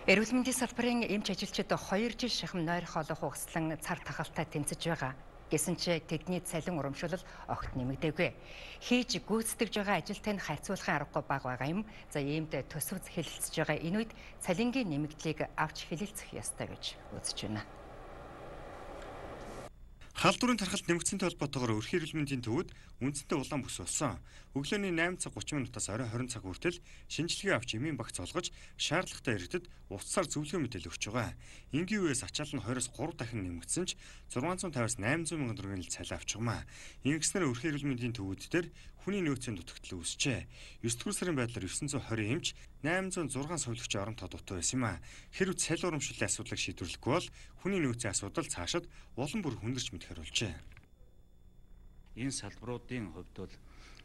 Эрүүл мэндийн салбарын эмч ажилчид 2 жил шахам нойр хоолой хугаслан цар тахалтай тэмцэж байгаа. Гэсэн ч тэдний цалин урамшуул огт нэмэгдээгүй. Хийж гүйцэтгэж байгаа ажилтай нь харьцуулахын аргагүй бага байгаа юм. За иймд төсөв хэлэлцэж байгаа энэ үед цалингийн нэмэгдлийг авч хэлэлцэх ёстой гэж үзэж байна. Халдварын тархалт нэмэгдсэнтэй холбоотойгоор өрхийн эрүүл мэндийн төвөд үндсэндээ улаан бүс болсон. Өглөөний 8:30 минутаас орой 20 цаг хүртэл шинжилгээ авч эмийн багц олгож шаардлагатай иргэдэд уцаар зөвлөгөө мэдээлэл өгч байгаа. Энгийн үеэс ачаал нь 2-оос 3 дахин нэмэгдсэн ч 650-аас 800 мянган төгрөгийн цалин авч байгаамаа. Ингэснээр өрхийн эрүүл мэндийн төвүүд дээр хүний нөөцийн дутагдал үүсчээ. 9 дугаар сарын байдлаар 920 эмч 806 сувилагчийн оронтой дутуу байсан юм а. Хэрвээ цалин урамшууллын асуудлыг шийдвэрлэхгүй бол хүний нөөцийн асуудал цаашид улам бүр хүндэрч мэдэх харуулжээ. Энэ салбаруудын хувьд бол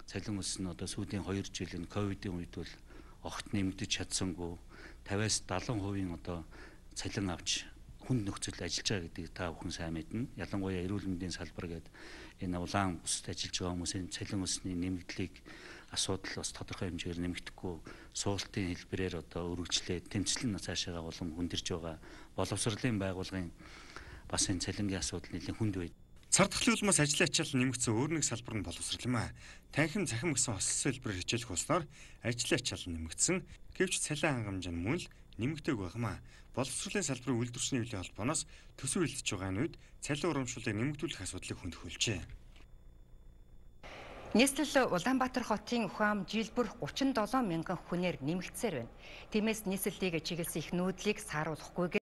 цалин өс нь одоо сүүлийн 2 жил энэ ковидын үед бол огт нэмэгдэж чадсангүй 50-аас 70% одоо цалин авч хүнд нөхцөл ажиллаж байгаа гэдгийг та бүхэн сайн мэднэ. Ялангуяа эрүүл мэндийн салбар гэдэг энэ улаан бүсд ажиллаж байгаа хүмүүсийн цалин өсний нэмэгдлийг асуудал бас тодорхой хэмжээгээр нэмэгдэхгүй суултын хэлбэрээр одоо өргөжлээд тэмцэл нь цаашаа улам хүндэрж байгаа. Боловсролын байгууллагын бас энэ цалингийн асуудал нэлээд хүнд байд. Цар тахлын улмаас ажлын ачаал нэмэгдсэн өөр нэг салбар нь боловсрол юм а. Танхим цахим гэсэн хослол хэлбэрээр хичээлэх болсноор ажлын ачаал нэмэгдсэн. Гэвч цалин хангамж нь мөн л нэмэгдээг байгаамаа. Боловсролын салбарын үйлдвэрчний хөвлийн холбооноос төсөв хэлэлцэж байгаа нь үед цалин урамшууллыг нэмэгдүүлэх асуудлыг хөндөхүүлжээ. Нийслэл Улаанбаатар хотын ухаам жилбэр 37 мянган хүнээр нэмэгдсээр байна. Тиймээс нийслэлийг чиглэсэн их нүүдлийг сааруулахгүйгээр